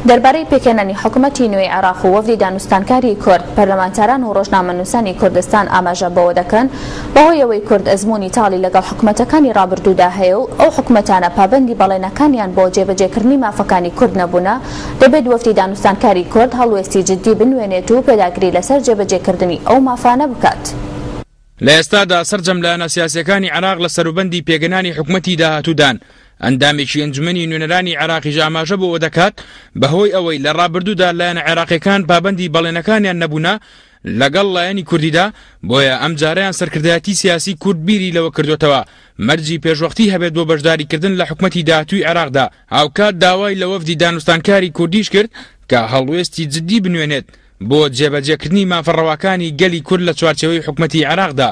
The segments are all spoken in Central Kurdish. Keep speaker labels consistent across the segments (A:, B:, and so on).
A: دەربارەی پێکهێنانی حکومەتی نوێی عێراق و وەفدی دانوستانکاری کورد، پەرلەمانتاران و ڕۆژنامەنووسانی کوردستان ئاماژە بەوە دەکەن، بەهۆی ئەوەی کورد ئەزموونی تاڵی لەگەڵ حکومەتەکانی ڕابردوودا هەیە و ئەو حکومەتانە پابەندی بەڵێنەکانیان بۆ جێبەجێکردنی مافەکانی کورد نەبوونە، دەبێت وەفدی دانوستانکاری کورد هەڵوێستی جددی بنوێنێت و پێداگری لەسەر جێبەجێکردنی ئەو مافانە بکات.
B: لە ئێستادا سەرجەم لایەنە سیاسییەکانی عێراق لە سەروبەندی پێکهێنانی حکومەتی داهاتوودان، ئەندامێکی ئەنجومەنی نوێنەرانی عێراقیش ئاماژە بەوە دەکات، بەهۆی ئەوەی لە ڕابردوودا لایەنە عێراقییەکان پابەندی بەڵێنەکانیان نەبوونە لەگەڵ لایەنی کوردیدا، بۆیە ئەمجارەیان سەرکردایەتی سیاسی کورد بیری لەوە کردۆتەوە مەرجی پێشوەختی هەبێت بۆ بەشداریکردن لە حکومەتی داهاتووی عێراقدا، هاوکات داوای لە وەفدی دانوستانکاری کوردیش کرد کە هەڵوێستی جددی بنوێنێت بۆ جێبەجێکردنی مافە ڕەواکانی گەلی کورد لە چوارچێوەی حکومەتی عێراقدا.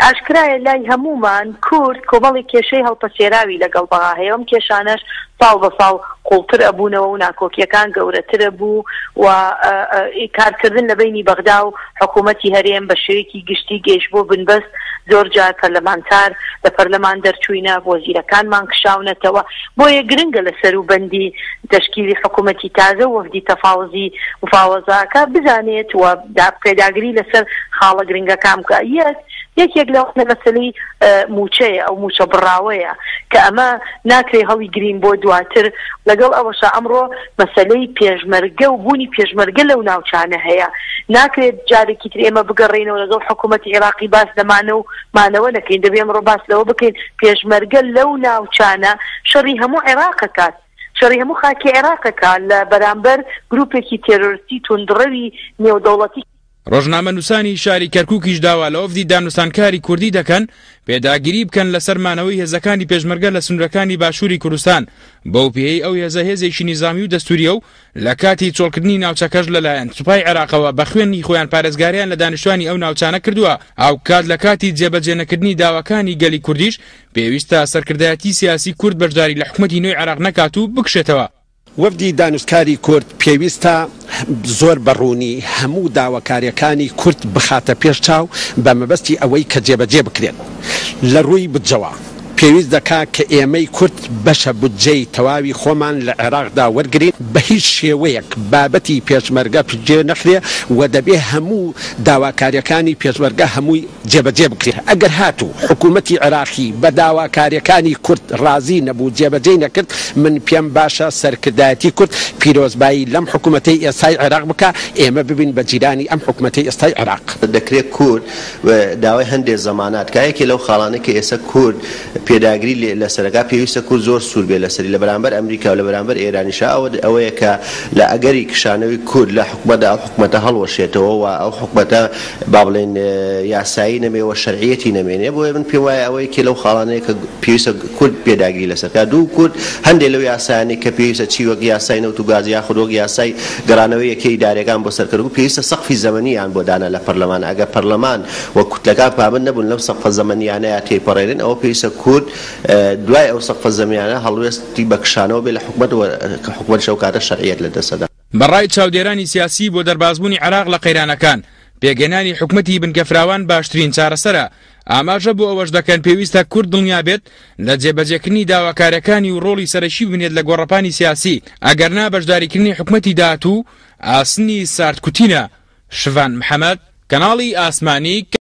C: ئاشکرایە لای هەموومان کورد کۆمەڵێک کێشەی هەڵپەسێراوی لەگەڵ بەغا هەیە، ئەم کێشانەش ساڵ بە ساڵ قوڵتر ئەبوونەوە و ناکۆکییەکان گەورەتر ئەبوو و کارکردن لە بەینی بەغدا و حکوومەتی هەرێم بە شێوەیەکی گشتی گەیشت بۆ بنبەست، زۆر جار پەرلەمانتار لە پەرلەمان دەرچووینە، وەزیرەکانمان کشاونەتەوە، بۆیە گرنگە لە سەروبەندی تەشکیلی حکوومەتی تازە و وەفدی تەفاوزی مفاوەزاکە بزانێت و پێداگری لەسەر خاڵە گرنگەکان بکا. یەک، یەکێک لەوانە مەسەلەی مووچەیە، ئەو مووچە بڕاوەیە کە ئەمە ناکرێ هەڵیگرین بۆ دواتر، لەگەڵ ئەوەشا ئەمڕۆ مەسەلەی پێشمەرگە و بوونی پێشمەرگە لەو ناوچانە هەیە، ناکرێت جارێکی تر ئێمە بگەڕێینەوە لەگەڵ حکوومەتی عێراقی باس لە مانە و مانەوە نەکەین، دەبێ ئەمڕۆ باس لەوە بکەین پێشمەرگە لەو ناوچانە شەڕی هەموو عێراق ئەکات، شەڕی هەموو خاکی عێراق ئەکات لە بەرامبەر گرووپێکی تێرۆرستی توندڕەوی نێودەوڵەتی.
B: ڕۆژنامەنووسانی شاری کەرکووکیش داوا لە وەفدی دانوستانکاری کوردی دەکەن پێداگیری بکەن لەسەر مانەوەی هێزەکانی پێشمەرگە لە سنوورەکانی باشووری کوردستان، بەو پێیەی ئەو هێزە هێزێکی نیزامی و دەستوورییە و لە کاتی چۆڵکردنی ناوچەکەش لەلایەن سوپای عێراقەوە بە خوێنی خۆیان پارێزگاریان لە دانیشتوانی ئەو ناوچانە کردووە، هاوکات لە کاتی جێبەجێنەکردنی داواکانی گەلی کوردیش پێویستە سەرکردایەتی سیاسی کورد بەشداری لە حکومەتی نوێی عێراق نەکات و بکشێتەوە.
D: وەفدی دانوستکاری کورد پێویستە زۆر بە ڕوونی هەموو داواکارییەکانی کورد بخاتە پێش چاو بە مەبەستی ئەوەی کە جێبەجێ بکرێن. لە ڕووی بودجەوە پێویست دەکا کە ئێمەی کورد بەشە بودجەی تەواوی خۆمان لە عێراقدا وەرگرین، بە هیچ شێوەیەک بابەتی پێشمەرگە پشتگوێ نەخرێ و دەبێ هەموو داواکارییەکانی پێشمەرگە هەمووی جێبەجێ بکرێت، ئەگەر هاتوو حکوومەتی عێراقی بە داواکارییەکانی کورد ڕازی نەبوو جێبەجێی نەکرد، من پێم باشە سەرکردایەتی کورد پیرۆزبایی لەم حکوومەتەی ئێستای عێراق بکا، ئێمە ببین بە جیرانی ئەم حکوومەتەی ئێستای عێراق.
E: دەکرێت کورد داوای هەندێ زەمانات کا، یەکێ لەو خاڵانەی کە ئێستا کورد پێداگری لێ لەسەر ئەکا پێویستە کورد زۆر سوور بێ لەسەری لە بەرامبەر ئەمریکا و لە بەرامبەر ئێرانیشا ئەوە ئەوەیە کە لە ئەگەری کشانەوەی کورد لە حکومەتدا ئەو حکومەتە هەڵوەشێتەوە و ئەو حکومەتە با بڵێین یاسایی نەمێ و شەرعیەتی نەمێنێ بۆیە من پێم وایە ئەوە یەکێ لەو خاڵانەیە کە پێویستە کورد پێداگری لەسەر کا دوو کورد هەندێ لەو یاسایانەی کە پێویستە چی وەک یاسای نەوت و گاز یاخود وەک یاسای گەڕانەوەی یەکەی ئیداریەکان بۆ سەر کەرکوک پێویستە سەقفی زەمەنیان بۆ دانا لە پەرلەمان ئەگەر پەرلەمان و کوتلەکان پابەند نەبوون لەم سەقفە زەمەنیانەیا تێیپەڕێنن ئەوە پێویستە کورد دوای ئەو سەقفە زەمەنیانە هەڵوێستی بە کشانەوە بێ لە حکومەت و حکومەتیش ئەو کاتە شەرعیەت لە دەست ئەدا.
B: بە ڕای چاودێرانی سیاسی بۆ دەربازبوونی عێراق لە قەیرانەکان، پێکهێنانی حکومەتی بنکەفراوان باشترین چارەسەرە، ئاماژە بۆ ئەوەش دەکەن پێویستە کورد دڵنیابێت لە جێبەجێکردنی داواکاریەکانی و ڕۆڵی سەرەکی ببینێت لە گۆڕەپانی سیاسی، ئەگەرنا بەشداریکردنی حکومەتی داهاتوو ئاسنی ساردکوتینە. شڤان محەمەد، کەناڵی ئاسمانی.